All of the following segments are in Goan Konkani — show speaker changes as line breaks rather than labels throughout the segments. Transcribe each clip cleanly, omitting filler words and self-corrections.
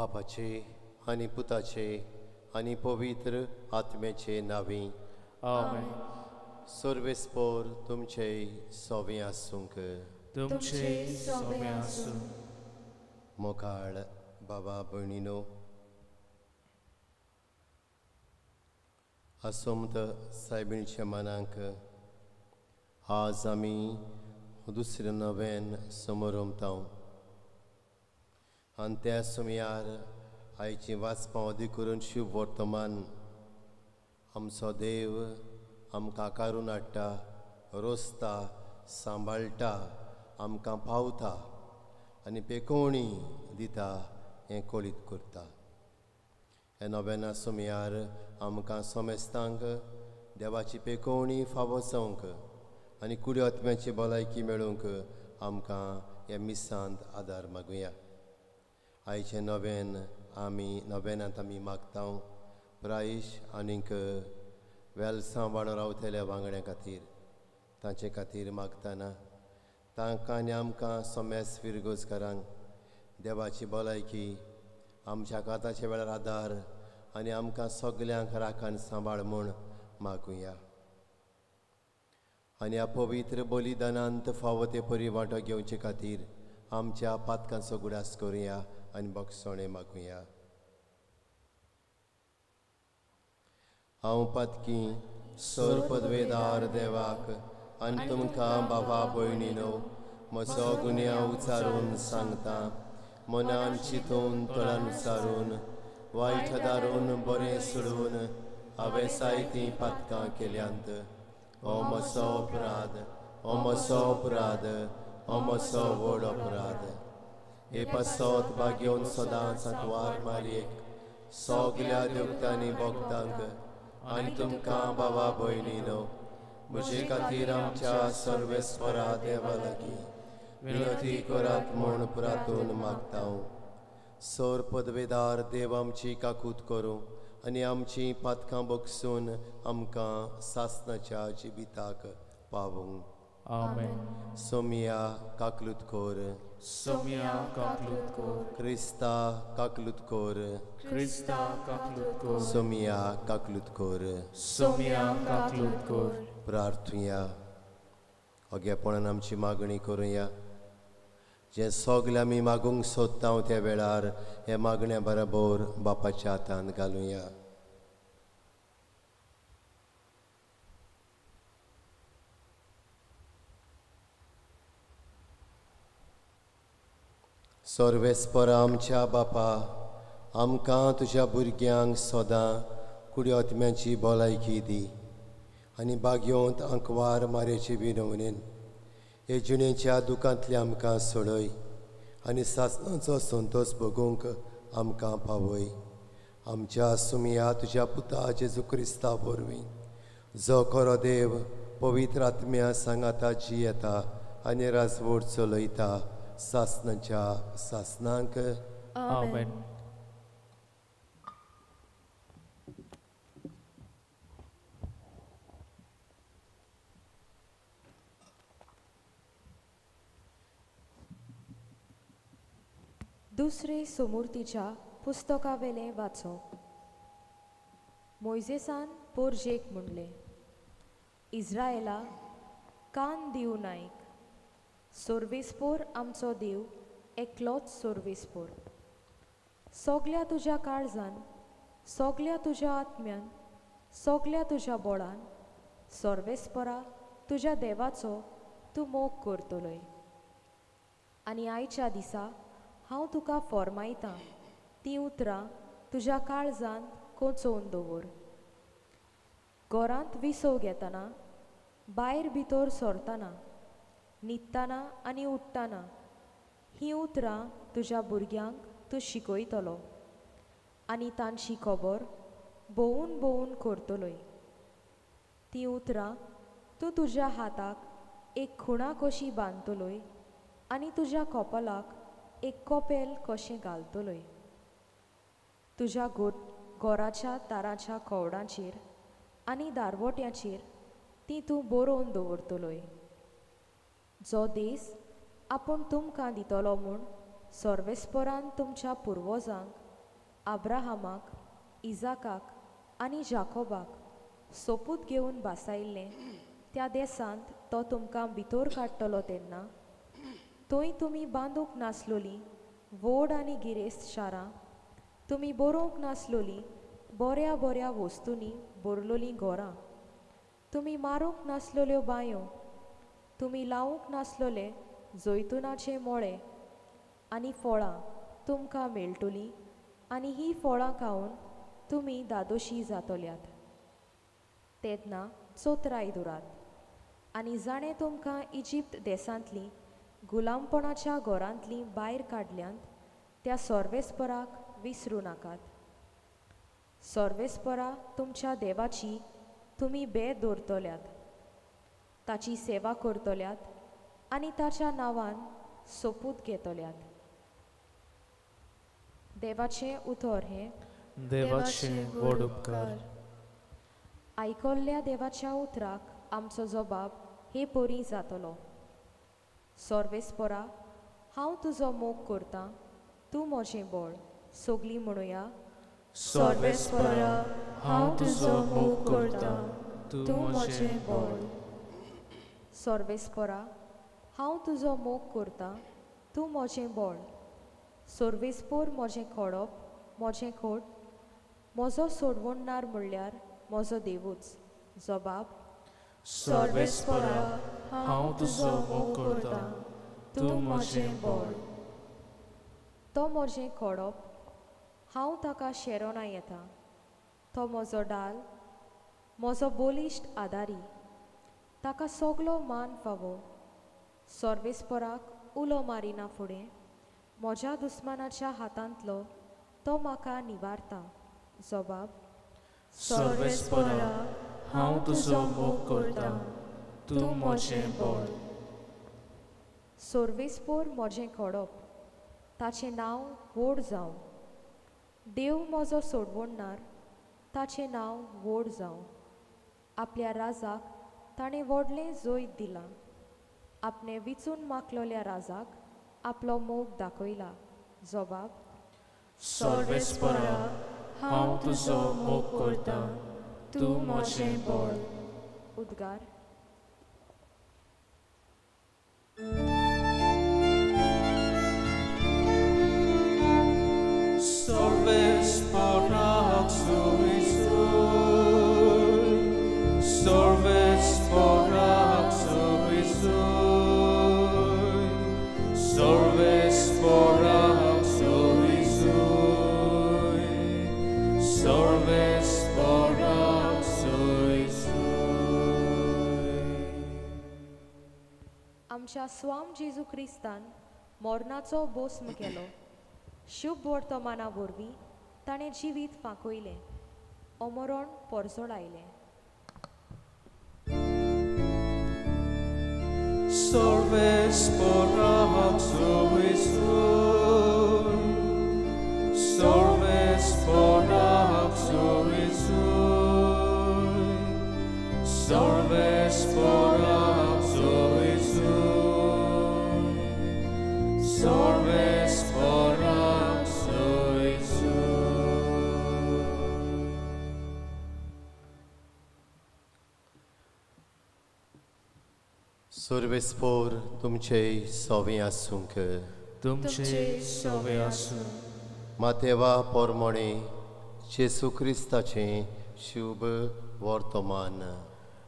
बापाचे आनी पुताचे आनी पवित्र आत्म्याचे नांवी
आमेन.
सर्वेस्पोर तुमचे सोवे आसूंक.
तुमचे सोवे आसूं.
मोकाळ बाबा भयणीनो, आसोमत सायबिणीच्या मनाक आज आमी दुसरें नव्यान समोरमता आनी त्या समयार आयची वाचपां अदीक करून शुभ वर्तमान आमचो देव आमकां कारून हाडटा, रोसता, सांबाळटा, आमकां पावता आनी पेकोवणी दिता हें कळीत करता. हे नव्याना समयार आमकां समेस्तांक देवाची पेकोवणी फावो जावंक आनी कुडी आत्म्याची भलायकी मेळूंक आमकां ह्या मिसांत आदार मागुया. आयचें नव्यान आमी नव्यानांत आमी मागता प्रायश आनीक वेलसां वाडो रावतल्या वांगड्यां खातीर, तांचे खातीर मागतना तांकां आनी आमकां समेस्त फिरगोजकारांक देवाची भलायकी, आमच्या काताच्या वेळार आदार आनी आमकां सगल्यांक राखण सांबाळ म्हूण मागुया. आनी ह्या पवित्र बलिदानांत फावो ते परी वांटो घेवचे खातीर आमच्या पातकांचो गुडास करुया आनी बक्षणें मागुया. हांव पातकी सर पदवेदार देवाक आनी तुमकां बाबा भयणीनो म्हजो गुन्यांव उचारून सांगता. मनान चिंतून तोंडान उचारून वायट दारून बरें सोडून हांवें जायतीं पातकां केल्यांत. हो म्हजो अपराध, हो म्हजो अपराध, हो म्हजो व्हड अपराध. हे पासत भाग्योन सदांच आंकवार मारयेक सगल्या देवतांनी भक्तांक आनी तुमकां बाबा भयणीनो म्हजे खातीर आमच्या सर्वेस्परा देवा लागीं विनती करात म्हूण प्रार्थून मागता. सर पदवेदार देव आमची काकूत करूं आनी आमची पातकां बगसून आमकां सासनाच्या जिविताक पावूं.
आमेन.
सोमिया काकलूत कोर.
सोमिया काकलूत कोर.
क्रिस्ता काकलूत कोर.
क्रिस्ता काकलूत कोर.
सोमिया काकलूत कोर.
सोमिया काकलूत कोर.
प्रार्थुया. अगेपणान आमची मागणी करुया. जें सगलें आमी मागूंक सोदता त्या वेळार हे मागण्या बरोबर बापाच्या हातान घालुया. सर्वेस्परा आमच्या बापा, आमकां तुज्या भुरग्यांक सदां कुडी आत्म्याची भलायकी दी आनी बागयोंत आंकवार मारेचे विनवणेन हे जिणेच्या दुखांतले आमकां सोडय आनी सासणाचो संतोश भोगूंक आमकां पावय. आमच्या सुमिया तुज्या पुता जेजू क्रिस्ता वरवीं, जो खरो देव पवित्र आत्म्या सांगाता जियेता आनी राजवट चलयता सासणाच्या सासणांक.
आमेन.
दुसरे सोमुर्तीच्या पुस्तकावेलें वाचप. मोयजेसान पोरजेक म्हणलें, इज्रायला कान दिवं नायक, सोर्वेस्पोर आमचो देव एकलोच सोर्वेस्पोर. सगल्या तुज्या काळजान, सगल्या तुज्या आत्म्यान, सगल्या तुज्या बोळान सोर्वेस्पोरा तुज्या देवाचो तूं मोग करतलोय. आनी आयच्या दिसा हांव तुका फॉर्मायतां तीं उतरां तुज्या काळजान कोंचोवन दवर. घरांत विसव घेतना, भायर भितर सरतना, न्हिदतना आनी उठ्ठना हीं उतरां तुज्या भुरग्यांक तूं शिकयतलो आनी तांची खबर भोंवून भोंवून करतलोय. तीं उतरां तूं तुज्या हाताक एक खुणा कशी बांदतलोय आनी तुज्या कपलाक एक कपेल कशें घालतलोय. तुज्या गोराच्या दाराच्या कवडांचेर आनी दारवट्याचेर ती तूं बरोवन दवरतलोय. जो देस आपूण तुमकां दितलो म्हूण सर्वेस्परान तुमच्या पुर्वजांक आब्राहामाक, इजाकाक आनी जाकोबाक सोपूत घेवन बासायिल्लें त्या देसांत तो तुमकां भितर काडटलो तेन्ना थंय तुमी बांदूंक नासलोलीं व्हड आनी गिरेस्त शारां, तुमी बरोवंक नासलोलीं बऱ्या बऱ्या वस्तूंनी भरलोलीं घरां, तुमी मारूंक नासलोल्यो बांयो, तुमी लावूंक नासलोले जैतुनाचे मोळे आनी फळां तुमकां मेळटलीं आनी हीं फळां खावन तुमी दादोशी जातल्यात. तेन्ना चोत्राय दवरात आनी जाणें तुमकां इजिप्त देसांतलीं गुलामपणाच्या घरांतलीं भायर काडल्यांत त्या सर्वेस्पराक विसरूं नाकात. सर्वेस्परा तुमच्या देवाची तुमी बेद दवरतल्यात, ताची सेवा करतल्यात आनी ताच्या नांवान सोपूत घेतल्यात. देवाचें उतर हें.
देवाचे व्हड उपकार.
आयकल्ल्या देवाच्या उतराक आमचो जबाब हे परी जातलो. सर्वेस्परा, हांव तुजो मोग करतां, तूं म्हजें बळ. सगलीं म्हणुया.
सर्वेस्परा, हांव तुजो मोग करतां, तूं म्हजें बळ.
सर्वेस्परा, हांव तुजो मोग करतां, तूं म्हजें बळ. सर्वेस्पोर म्हजें खोडप, म्हजें खोट, म्हजो सोडवणदार म्हणल्यार म्हजो देवूच. जबाब.
सर्वेस्परा, हांव तुजो मोग करतां, तूं म्हजें बळ.
तो म्हजें खोडप, हांव ताका शेरोना येता. तो म्हजो डाल, म्हजो बलिश्ट आदारी, ताका सगलो मान फावो. सर्वेस्पराक उलो मारिना फुडें म्हज्या दुस्मानाच्या हातांतलो तो म्हाका निवारता. जबाब.
सर्वेस्परा, हांव तुजो मोग करतां, तूं म्हजें बळ.
सर्वेस्पोर म्हजें खोडप, ताचें नांव व्हड जावं. देव म्हजो सोडवणदार, ताचें नांव व्हड जावं. आपल्या राजाक ताणें व्हडलें जैत दिलां, आपणें विचून मागलोल्या राजाक आपलो मोग दाखयला. जबाब.
सर्वेस्परा, हांव तुजो मोग करतां, तूं म्हजें बळ.
उद्गार.
सर्वेस्पराक सुविसूय, सर्वेस्पराक सुविसूय, सर्वेस्पराक सुविसूय, सर्वेस्पराक सुविसूय.
आमच्या स्वाम जेजू क्रिस्तान मरणाचो बोस्म केलो. शुभ वर्तमाना वरवीं ताणें जिवीत फांकयलें, अमरण परजळायलें.
सर्वेस्पराक सुविसूय, सर्वेस्पराक सुविसूय, सर्वेस्पराक सुविसूय, सर्वेस्पराक सुविसूय.
सर्वेस्पोर तुमचे सोवे आसूंक.
तुमचे सोवे आसूं.
मातेवा पोरमोणे जेसू क्रिस्ताचें शुभ वर्तमान.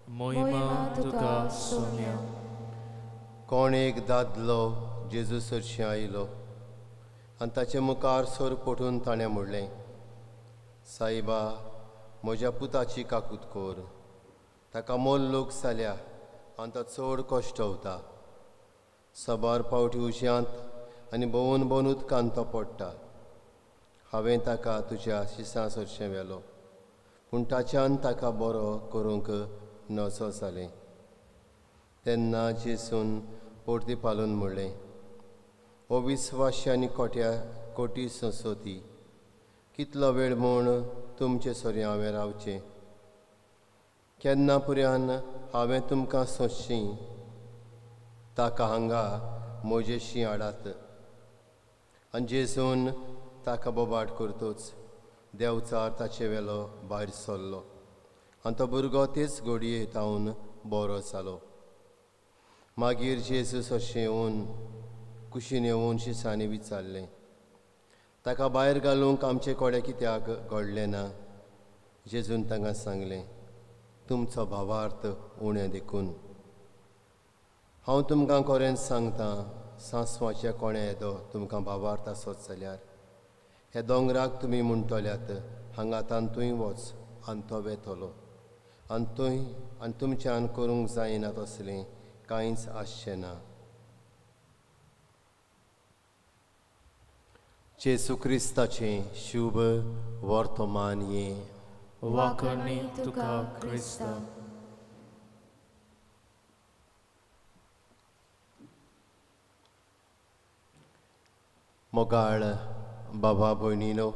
मोहिमा तुका सोम्या.
कोण एक दादलो जेजू सरशीं आयलो आनी ताचे मुखार सर पटून ताणें म्हणलें, सायबा, म्हज्या पुताची काकूत कर, ताका मोल लोक जाल्या आनी तो चड कश्टवता. साबार पावटी उज्यांत आनी भोंवन भोंवन उदकांत तो पडटा. हांवें ताका तुज्या शिसां सरशें व्हेलो, पूण ताच्यान ताका बरो करूंक नजो जालें. तेन्ना जेसून परती पालून म्हणलें, हो विस्वाशी आनी कोट्या कोटी संसोती, कितलो वेळ म्हूण तुमचे सरी हांवें रावचें? केन्ना पुर्यान हांवें तुमकां सोंसची? ताका हांगा म्हजेशी हाडात. आनी जेजून ताका बोबाट करतोच देंवचार ताचे वेलो भायर सरलो आनी तो भुरगो तेच घडये तावन बरो जालो. मागीर जेजू अशें येवन कुशीन येवन शिसांनी विचारलें, ताका भायर घालूंक आमचे कडेन कित्याक घडलें ना? जेजून तांकां सांगलें, तुमचो भावार्थ उणें देखून. हांव तुमकां खरेंच सांगता, सांसवाच्या कोणे येदो तुमकां भावार्थ आसत जाल्यार ह्या दोंगराक तुमी म्हणटल्यात, हांगा तांतूय वच आनी तो वेतलो, आनी थंय आनी तुमच्यान करूंक जायना तसलें कांयच आसचें ना. जेजू क्रिस्ताचें शुभ वर्तमान हें.
वाखणी तुका क्रिस्ता.
मोगाळ बाबा भयणीनो,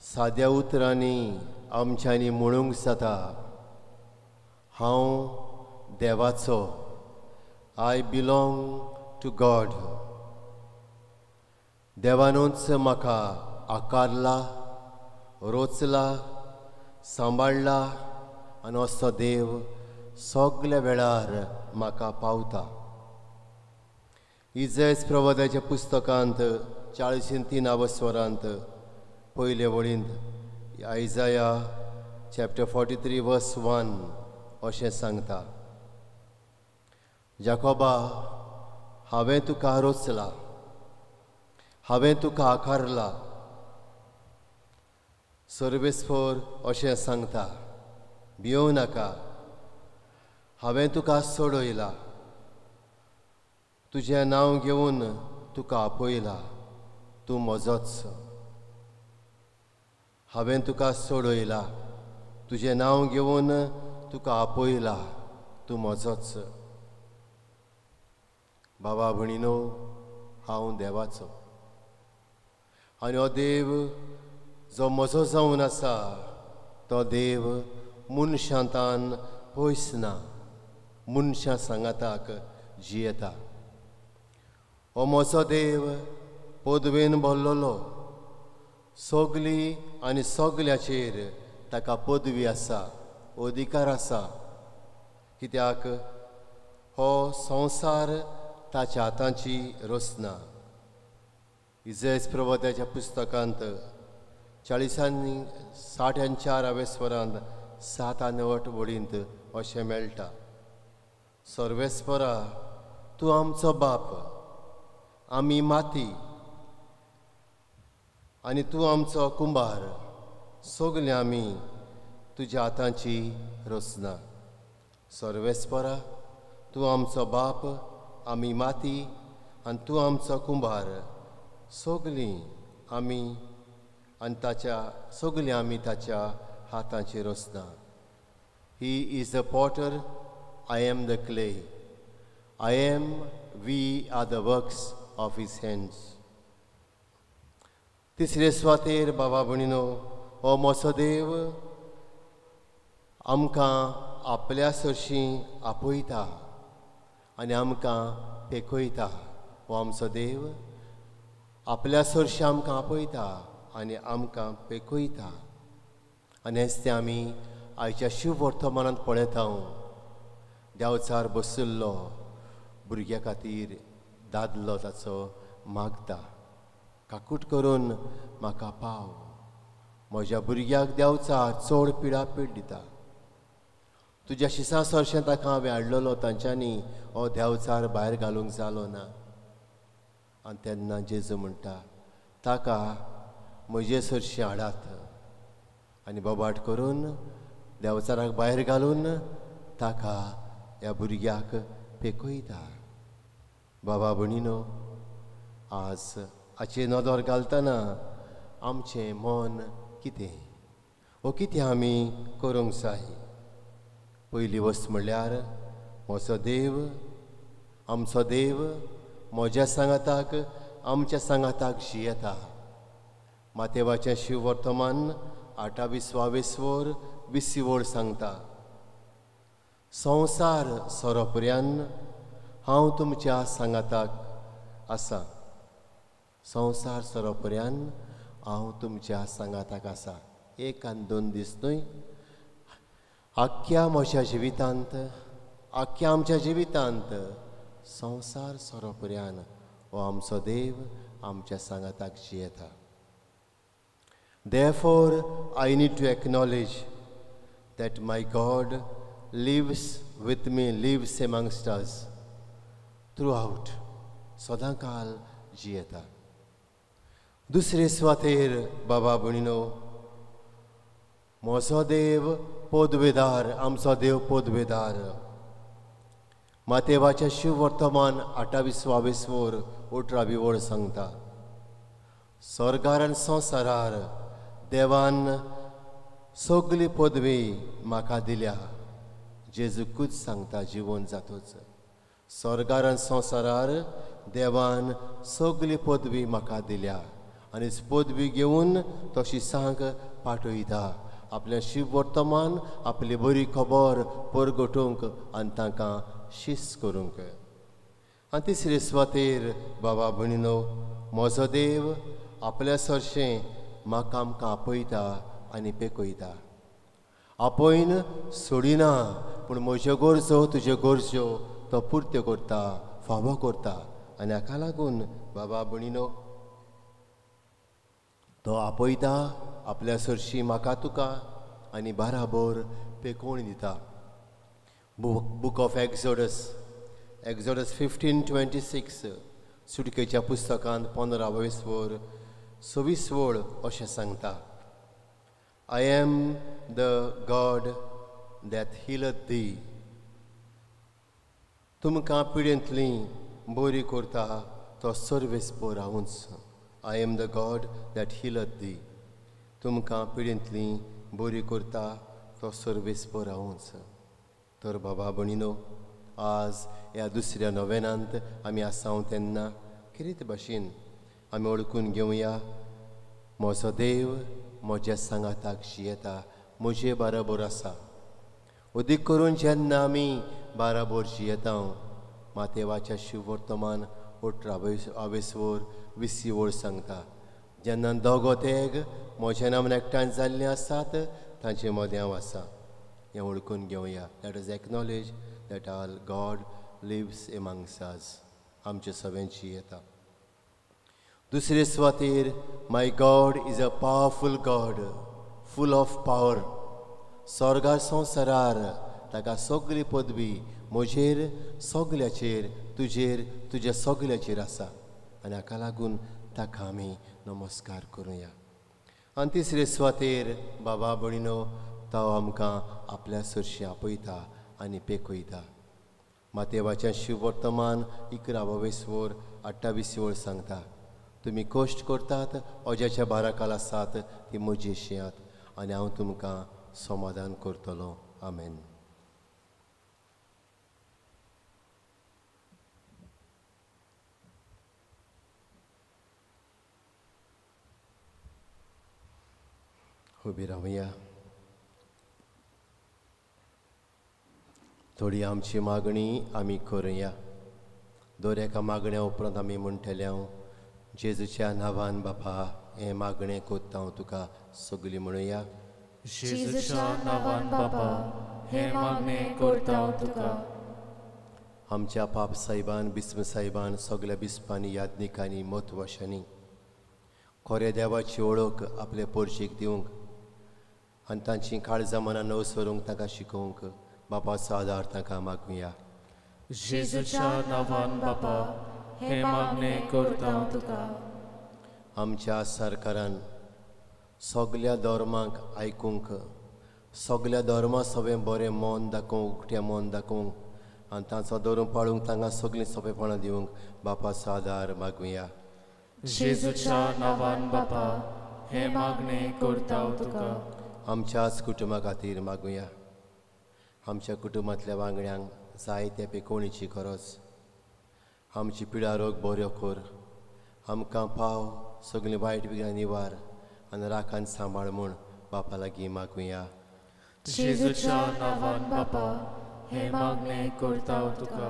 साद्या उतरांनी आमच्यांनी म्हणूंक जाता, हांव देवाचो, I belong to God. देवानूच म्हाका आकारला, रोचला, सांबाळला आनी असो देव सगल्या वेळार म्हाका पावता. इजैस प्रवादाच्या पुस्तकांत 43 स्वरांत पयले वळींत आयजाया चॅप्टर 43 वर्स 1 अशें सांगता, जाकोबा हांवें तुका रोचला, हांवें तुका आकारला. सर्वेस्पर अशें सांगता, भियोव नाका, हांवें तुका सोडयला, तुजें नांव घेवन तुका आपयला, तूं म्हजोच. हांवें तुका सोडयला, तुजें नांव घेवन तुका आपयला, तूं म्हजोच. बाबा भयणीनो, हांव देवाचो आनी हो देव जो म्हजो जावन आसा तो देव मनशांतान पयस ना, मनशां सांगाताक जियेता. हो म्हजो देव पदवेन भरलेलो, सगली आनी सगल्याचेर ताका पदवी आसा, अधिकार आसा, कित्याक हो संवसार ताच्या हातांची रचना. इजैस प्रवादाच्या पुस्तकांत 40 64 स्वरांत 7 आनी 8 वळींत अशें मेळटा, सर्वेस्परा तूं आमचो बाप, आमी माती आनी तूं आमचो कुंभार, सगळे आमी तुज्या हातांची रचना. सर्वेस्परा तूं आमचो बाप, आमी माती आनी तूं आमचो कुंभार, सगळीं आमी आनी ताच्या सगळीं आमी ताच्या हातांची रचना. He is the potter, I am the clay, I am, we are the works of his hands. तिसरे सुवातेर बाबा भयणीनो, हो म्हजो देव आमकां आपल्या सरशीं आपयता आनी आमकां पेखयता. हो आमचो देव आपल्या सरशीं आमकां आपयता आनी आमकां पेखयता. आनी हेंच तें आमी आयच्या शिव वर्तमानांत पळयता. देंवचार बशिल्लो भुरग्या खातीर दादलो ताचो मागता, काकूट करून म्हाका पाव, म्हज्या भुरग्याक देंवचार चड पिडापीड दिता, तुज्या शिसां सरशें ताका हांवें हाडलेलो, तांच्यांनी हो देंवचार भायर घालूंक जालो ना. आनी तेन्ना जेजू म्हणटा, ताका म्हजे सरशीं हाडात. आनी बोबाट करून देंवचाराक भायर घालून ताका ह्या भुरग्याक पेखयता. बाबा भयणीनो, आज हाचेर नदर घालतना आमचें मन कितें वो कितें आमी करूंक जाय? पयली वस्त म्हणल्यार म्हजो देव, आमचो देव म्हज्या सांगाताक, आमच्या सांगाताक जियेता. मातेवाचें शिव वर्तमान 28 वर 20 वळ सांगता, संवसार सोरोपर्यान हांव तुमच्या सांगाताक आसा. संवसार सरोपर्यान हांव तुमच्या सांगाताक आसा. एक आनी दोन दीस न्हय, आख्ख्या म्हज्या जिवितांत, आख्ख्या आमच्या जिवितांत संवसार सरोपर्यान हो आमचो देव आमच्या सांगाताक जियेता. Therefore, I need to acknowledge that my God lives with me, lives amongst us throughout. सदांकाल जियेता. दुसरे सुवातेर बाबा भयणीनो, म्हजो देव पदवेदार, आमचो देव पदवेदार. मातेवाचें शिववर्तमान 28 वर 18 वळ सांगता, स्वर्गार आनी संवसारार देवान सगली पदवी म्हाका दिल्या. जेजूकूच सांगता जिवन जातोच, स्वर्गार आनी संवसारार देवान सगली पदवी म्हाका दिल्या आनी पदवी घेवन तो शिसांक पाठयता आपलें शिववर्तमान, आपली बरी खबर परगटूंक आनी तांकां शिस्त करूंक. आनी तिसरे सुवातेर बाबा भयणीनो, म्हजो देव आपल्या सरशें म्हाका आमकां आपयता आनी पेकयता. आपोयन सोडिना, पूण म्हज्यो गरजो तुज्यो गरजो तो पुर्त्यो करता, फावो करता. आनी हाका लागून बाबा भयणीनो, तो आपयता आपल्या सरशी म्हाका तुका आनी बाराबर पेकोवणी दिता. Book of Exodus, Exodus 15:26, सुटकेच्या पुस्तकांत 15 वर 26 वळ अशें सांगता, I am the God that healeth thee. तुमकां पिडेंतली बरी करता तो सर्वेस्पर हांवूच. I am the God that healeth thee. तुमकां पिडेंतली बरी करता तो सर्वेस्पर हांवूच. तर बाबा भयणीनो, आज ह्या दुसऱ्या नोवेनांत आमी आसाव तेन्ना कितें भाशेन आमी वळखून घेवया, म्हजो देव म्हज्या सांगाताक जियेता, म्हजे बाराबर आसा. अदीक करून जेन्ना आमी बाराबर जियेता, मातेवाच्या शिववर्तमान 18 वर 20 वळ सांगता, जेन्ना दोगो तेग म्हज्या नांवान एकठांय जाल्ले आसात तांचे मदें हांव आसा. हें वळखून घेवया. Let us acknowledge that our God lives amongst us. आमचे सगळ्यांची येता. दुसरे सुवातेर, my God is a powerful God, full of power. स्वर्गार संवसारार ताका सगली पदवी म्हजेर, सगल्याचेर, तुजेर, तुज्या सगल्याचेर आसा आनी हाका लागून ताका आमी नमस्कार करुया. आनी तिसरे सुवातेर बाबा भयणीनो, तो आमकां आपल्या सरशी आपयता आनी पेकयता. मातेवाचें शिववर्तमान 11 वर 28 वळ सांगता, तुमी कश्ट करतात, अज्याच्या बाराकाल आसात ती म्हजी शियात आनी हांव तुमकां समाधान करतलो. आमेन. उबी रावया. थोडी आमची मागणी आमी करुया. दर एका मागण्या उपरांत आमी म्हणटले, हांव जेजूच्या नांवान बापा हें मागणें कोत्ता हांव तुका. सगळीं म्हणुया,
जेजूच्या नांवान बापा हें मागणें करता हांव तुका.
आमच्या पाप साहेबान, बिस्म साहेबान, सगळ्या बिस्पांनी, याज्ञिकांनी, म्हत्वाशांनी खऱ्या देवाची वळख आपले पोरशीक दिवंक आनी तांची काळजां मनां नवसरूंक तांकां शिकोवंक बापाचो आदार तांकां मागुया.
जेजूच्या नांवान बापा हें मागणें करता हांव तुका.
आमच्या सरकारान सगल्या धर्मांक आयकूंक, सगल्या धर्मा सगळें बरें मन दाखोवंक, उकतें मन दाखोवंक आनी तांचो धरून पाळूंक तांकां सगळीं सोंपेपणां दिवंक बापाचो आदार मागुया.
जेजूच्या नांवान बापा हें मागणें करता हांव तुका.
आमच्याच कुटुंबा खातीर मागुया. आमच्या कुटुंबांतल्या वांगड्यांक जायते पेकोवणेची गरज. आमची पिडा रोग बऱ्यो कर, आमकां पाव सगळीं वायट विघ्नां निवार आनी राखान सांबाळ म्हूण बापा लागीं मागुया.
जेजूच्या नांवान बापा हें मागणें करता हांव तुका.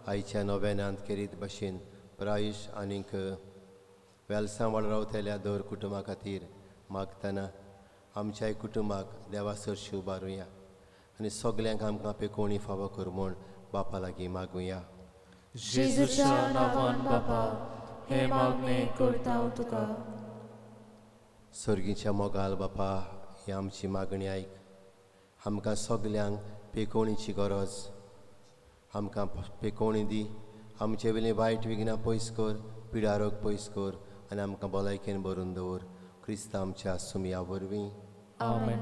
आयच्या नोवेनांत केरीत भशेन प्रायश आनीक वेलसांवाळ रावतल्या दर कुटुंबा खातीर मागतना आमच्याय कुटुंबाक देवा सरशी उबारुया आनी सगल्यांक आमकां पेकोवणी फावो कर म्हूण बापा लागीं मागुया.
जेजूच्या नांवान बापा हें मागणें करता तुका.
सर्गीच्या मोगाल बापा ही आमची मागणी आयक. आमकां सगल्यांक पेकोवणीची गरज, आमकां पेकोवणी दी. आमचे वयलीं वायट विघ्नां पयस कर, पिडारोग पयस कर आनी आमकां भलायकेन भरून दवर. क्रिस्त आमच्या सुमया वरवीं.
आमेन.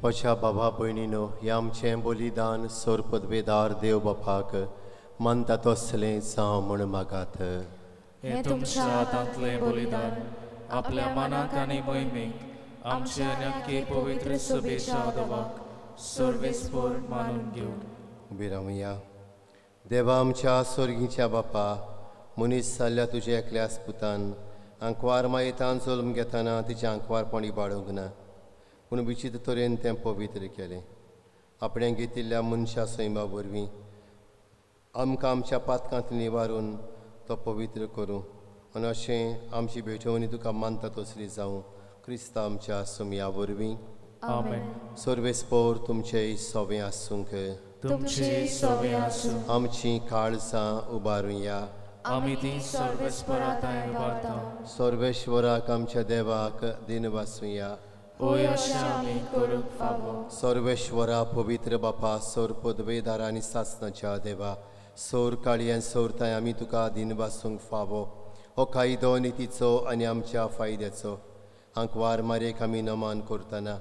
पशा बाबा भयणीनो, हें आमचें बलिदान सोर पदवेदार देव बापाक मानता तसलें जावं म्हूण मागात.
हें तुमच्या हातांतलें बलिदान आपल्या मनाक आनी मोहिमेक आमचे आनी पवित्र सभेच्या देवाक सर्वेस्पर मानून घेवं.
उबी रावया. देवा आमच्या सोर्गीच्या बापा, मनीस जाल्ल्या तुज्या एकल्याच पुतान आंकवार मायेतान जल्म घेतना तिचें आंकवारपण इबाडूंक ना, पूण विचित्र तरेन तें पवित्र केलें. आपणें घेतिल्ल्या मनशा सैमा वरवीं आमकां आमच्या पातकांत निवारून तो पवित्र करूं आनी अशें आमची भेटवणी तुका मानता तसली जावं. क्रिस्ता आमच्या सुमया वरवीं.
आमेन.
सर्वेस्पोर तुमचें सवें आसूंक.
तुमचें सवें आसूं.
आमचीं काळजां उबारुया.
आमी ती सर्वेस्परा थंय उबारता.
सर्वेश्वराक आमच्या देवाक दिनवासुया.
ओय अशें आमी करूंक फावो.
सर्वेश्वरा पवित्र बापा, सोर पदवेदार आनी सासणाच्या देवा, सोर काळयान सोरताय आमी तुका दिनवासूंक फावो. हो कायदो नितीचो आनी आमच्या फायद्याचो. आंकवार मारेक आमी नमान करतना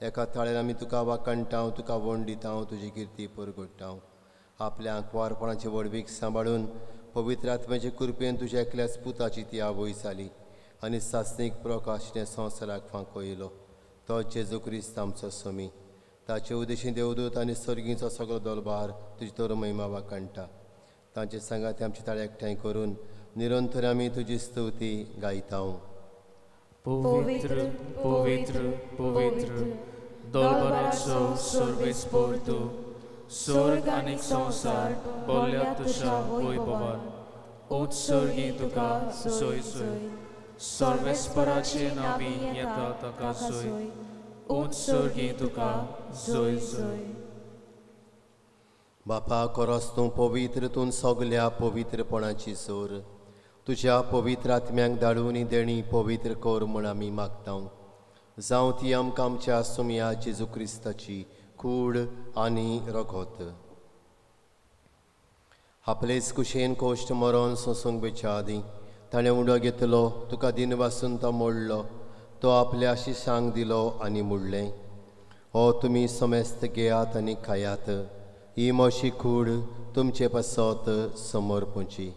एका ताळ्यान आमी तुका वाखणटाव, तुका वंडिताव, तुजी किर्ती परगडटाव. आपल्या आंकवारपणाची व्हडवीक सांबाळून पवित्र आत्म्याचे कृपेन तुज्या एकल्याच पुताची ती आवय जाली आनी सासणीक प्रकाशने संवसाराक फांको येयलो. तो जेजू क्रिस्त आमचो समी. ताचे उदेशी देवदूत आनी सर्गीचो सगळो दलबार तुजी तर महिमा वाखणटा. तांचे सांगात आमचे ताळे एकठांय करून निरंतर आमी तुजी स्तुती गायता.
पवित्र पवित्र पवित्र दलबाराचो सर्वेस्पर तूं, स्वर्ग आनी संवसार भरल्या तुज्या वैभवान. उत्सर्गी तुका सोय सोय, सर्वेस्पराचे नांवी येता ताका सोय, उत्सर्गी तुका जोय जोय.
बापा, खरोच तूं पवित्र, तूं सगल्या पवित्रपणाची सोर. तुज्या पवित्र आत्म्यांक धाडून देणी पवित्र कर म्हूण आमी मागता. जावं ती आमकां आमच्या सुमया जेजू क्रिस्ताची कूड आनी रगत. आपलेच कुशेन कोश्ट मरोन सोंसूंक बेच्या आदीं ताणें उडो घेतलो, तुका दिनवासून तो मोडलो, तो आपल्या शिशांक दिलो आनी म्हणलें, हो तुमी समेस्त घेयात आनी खायात, ही म्हजी कूड तुमचे पासत समर्पूची.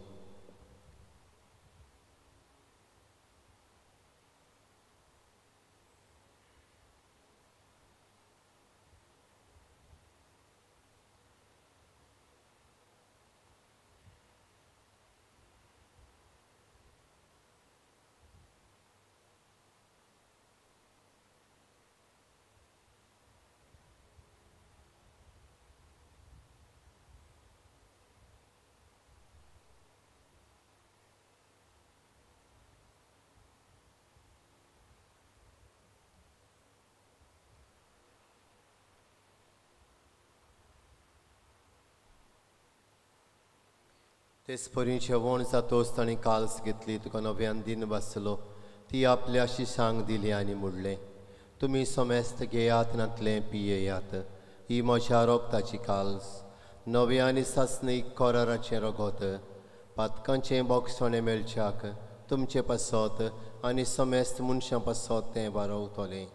तेच परी जेवण जातोच ताणें काल्स घेतली, तुका नव्यान दिन बसलो, ती आपल्या शिशांक दिली आनी म्हणलें, तुमी समेस्त घेयात नातलें पियेयात, ही म्हज्या रोगताची काल्स, नव्या आनी सासणीक कराराचें रगत, पातकांचें बोगसणें मेळच्याक तुमचे पासत आनी समेस्त मनशां पासत तें वारवतलें.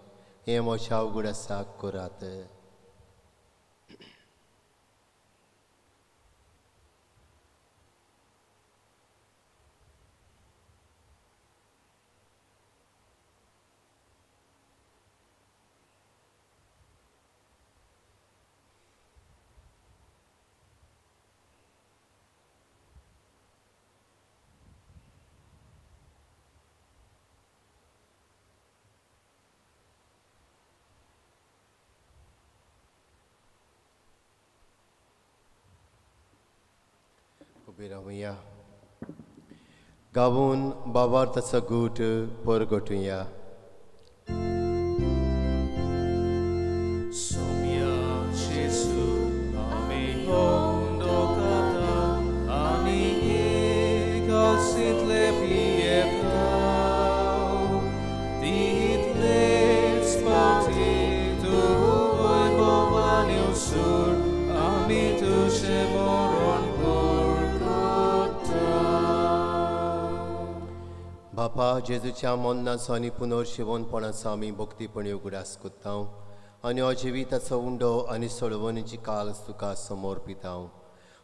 हें म्हज्या उगडासाक करात. उबी रावया, गावून बाबार्थाचो गूट परगटुया. बापा, जेजूच्या मरणाचो आनी पुनर्जिवनपणाचो आमी भक्तीपणी उगडास करता आनी हो जिविताचो उंडो आनी सोडवणीची काल्स तुका समर्पिता.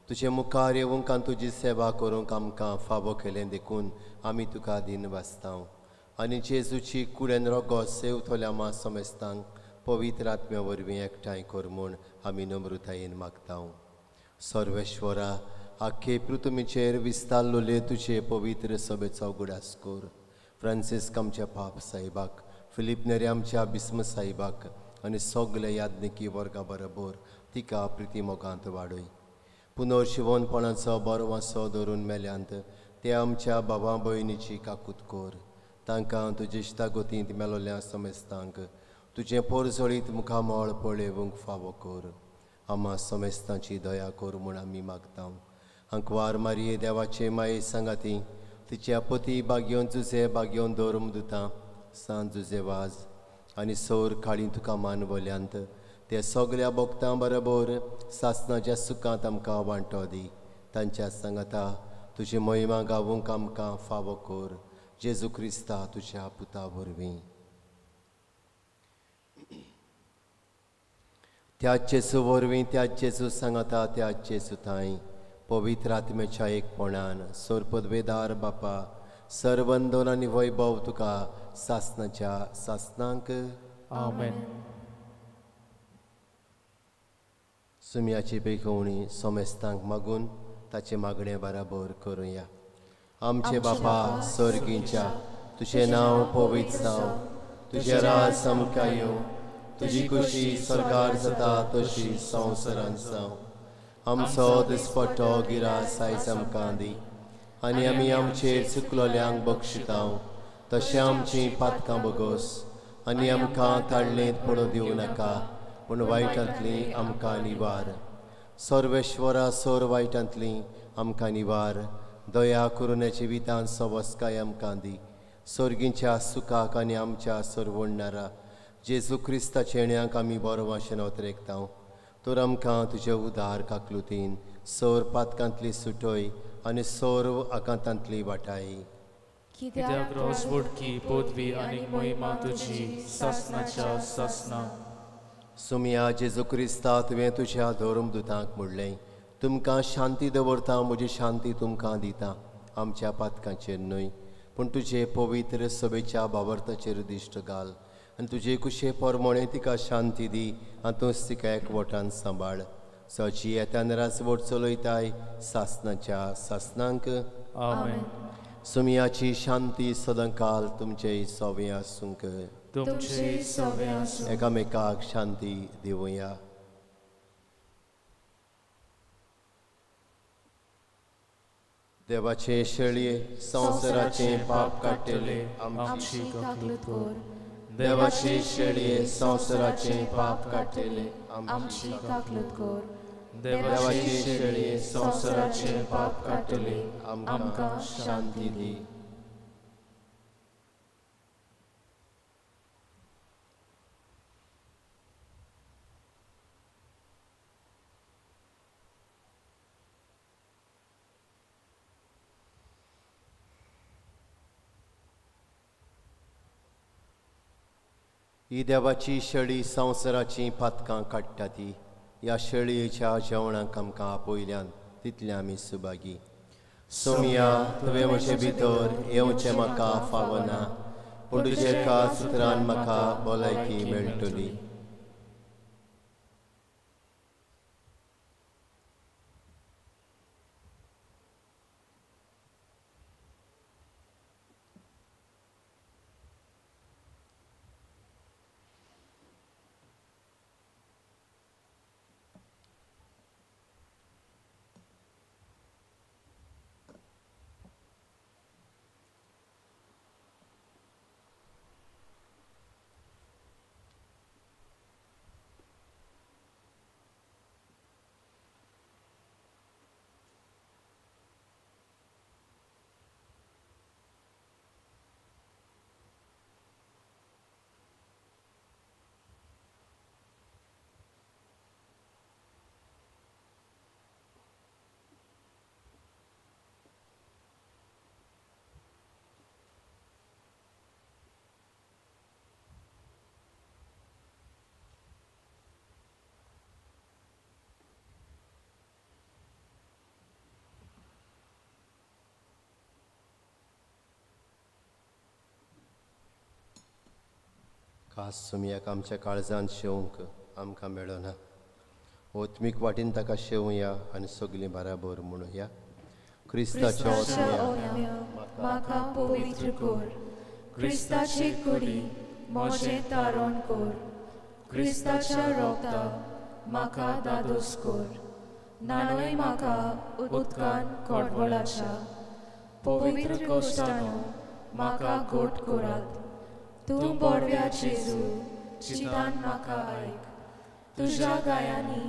तुजे मुखार येवंक आनी तुजी सेवा करूंक आमकां फावो केलें देखून आमी तुका दिन वाचता आनी जेजूची कुडेन रोगो सेवतल्या मा समेस्तांक पवित्र आत्म्या वरवीं एकठांय कर म्हूण आमी नम्रतायेन मागता. सर्वेश्वरा, आख्खे पृथ्वीचेर विस्तारलेले तुजे पवित्र सभेचो उगडास कर. फ्रांसिस्क आमच्या पाप साहेबाक, फिलीप नेरी आमच्या बिस्म साहेबाक आनी सगळे याज्ञिकी वर्गा बरोबर तिका प्रिती मोगांत वाडय. पुनर्जिवनपणाचो बरो वासो धरून मेल्यांत ते आमच्या बाबा भयणीची काकूत कर. तांकां तुजे इश्टागतींत मेलोल्या समेस्तांक तुजें पोरजळीत मुखामळ पळोवंक फावो कर. आमा समेस्तांची दया कर म्हूण आमी मागता. आंकवार मारये देवाचे माये सांगाती तिच्या पती बागयोन जुजे बागयोन धर्म दुता सांत जुजे वाज आनी सौर काळी तुका मानवल्यांत ते सगळ्या भक्तां बरोबर सासणाच्या सुखांत आमकां वांटो दी. तांच्या सांगाता तुजी महिमा गावूंक आमकां फावो कर. जेजू क्रिस्ता तुज्या पुता वरवीं. त्याच जेजू वरवीं, त्याच जेजू सांगाता, त्याच जेजू थांय पवित्र आत्म्याच्या एकपणान सोरपदवेदार बापा सर्वंदन आनी वैभव तुका सासणाच्या सासणांक.
आमेन.
सुम्याची बेगवणी समेस्तांक मागून ताचे मागणे बराबर करुया. आमचे बापा सर्गींच्या, तुजें नांव पवित्र जावं, तुजें राज आमकां येवं, तुजी खुशी स्वर्गार जाता तशी संवसारांत जावं. आमचो दिसपट्टो गिरास आयज आमकां दी आनी आमी आमचेर चुकलोल्यांक बक्षिता तशें आमचीं पातकां बगोस आनी आमकां ताळणेंत पडूं दिवं नाका, पूण वायटांतली आमकां निवार. सर्वेश्वरा, सोर वायटांतली आमकां निवार. दया करून जिवितांत सवस्काय आमकां दी. सर्गींच्या सुखाक आनी आमच्या सरवणणारा जेजू क्रिस्ताच्या येण्याक आमी बरो वाशेन अतरेकता. तर आमकां तुजे उदार काकलुतीन सोर पातकांतली सुटय आनी सोर आकांतांतली वाटाय.
कित्याक रोजवटकी पदवी आनी मोहिमा तुजी सासनाच्या सासना.
सुमिया जेजू क्रिस्ता, तुवें तुज्या धर्मदुतांक म्हणलें, तुमकां शांती दवरता, म्हजी शांती तुमकां दिता. आमच्या पातकांचेर न्हय पूण तुजे पवित्र सभेच्या बाबर्ताचेर दिश्ट घाल आनी तुजे कुशे परमणे तिका शांती दी आनी तूंच तिका एकवटान सांबाळ. सची येतान राजवट चलयताय सासनाच्या सासनांक.
आमेन.
सुमियाची शांती सदांकाल तुमचे सवे आसूंक.
तुमचे सवे आसूं.
एकामेकाक शांती दिवया. देवाचे शेळये संवसाराचे पाप काडटले
आमची काकलूत कर.
देवाचे शेळये संवसाराचे पाप काडटले
आमची काकलूत कर.
देवाचे शेळये संवसाराचे पाप काडटले आमकां
शांती दी. ही देवाची शेळी संवसाराची पातकां काडटा ती ह्या शेळयेच्या जेवणाक आमकां आपयल्यान तितले आमी सुभागी. सोमिया, तुवें म्हजे भितर येवचें म्हाका फावना, पूण तुजे एका सुत्रान म्हाका भलायकी मेळटली. खास सुमयाक आमच्या काळजान शेवंक आमकां मेळना. ओत्मीक वाटेन ताका शेवया आनी सगलीं बराबर म्हणुया. क्रिस्ताच्या
ओत्म्या म्हाका पवित्र कर. क्रिस्ताची कुडी म्हजें तारण कर. क्रिस्ताच्या रोगता म्हाका दादोस कर. नाणय म्हाका उदकान कोडवळाच्या पवित्र कोश्टानो म्हाका गोट करात. तूं बोडव्या जेजू चितान म्हाका आयक. तुज्या गायांनी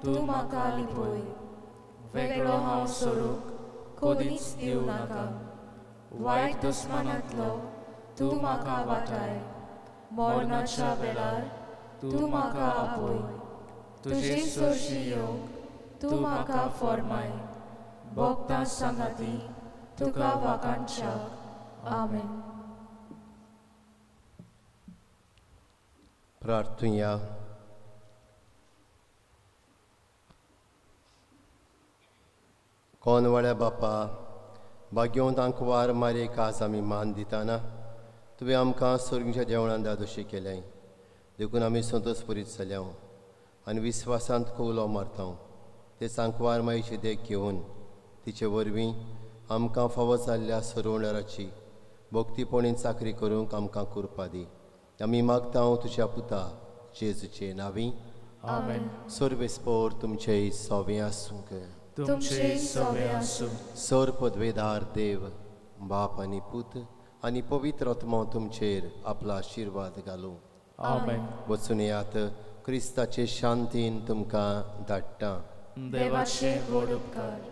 तूं म्हाका लिपय.
वेगळो हांव सरूक कोदीच दिवं नाका. वायट दुस्मानांतलो तूं म्हाका वाटाय. मरणाच्या वेळार तूं म्हाका आपय. तुजे सरशी येवंक तूं म्हाका फॉर्माय. भोगतां सांगाती तुका वाखाणच्याक. आमेन.
प्रार्थुया. कोनवाड्या बापा, भाग्यवंत आंकवार मारयेक आज आमी मान दिताना तुवें आमकां सर्गीच्या जेवणान दादोशी केलें देखून आमी संतोषपुरीत जाल्या आनी विस्वासांत कवलो मारता. ते आंकवार मायेची देख घेवन तिचे वरवीं आमकां फावो जाल्ल्या सरवणाराची भक्तीपणीन चाकरी करूंक आमकां कृपा दी. आमी मागता तुज्या पुता जेजूचे नांवी.
आमेन.
सर्वेस्पोर तुमचे सवे आसूंक.
तुमचे सवे आसूं.
सर पदवेदार देव बाप आनी पूत आनी पवित्र आत्मो तुमचेर आपलो आशिर्वाद घालूं.
आमेन.
वचून येयात, क्रिस्ताचे शांतीन तुमकां धाडटा.
देवाचे व्हड उपकार.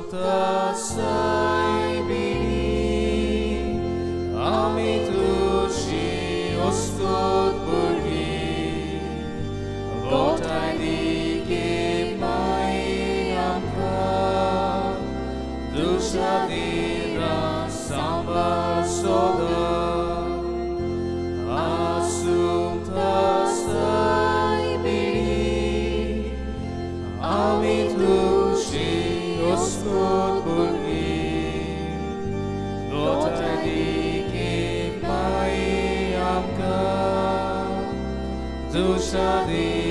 Assumpta sei bini, आमी तुजी ओस्तोत भुरगीं, गोठाय दी माई आमकां, तुज्या दिरां सांबाळ सदां. Assumpta sei bini, आमी तुजी ओस्तोत भुरगीं, गोठाय दी माई आमकां, तुज्या दिरां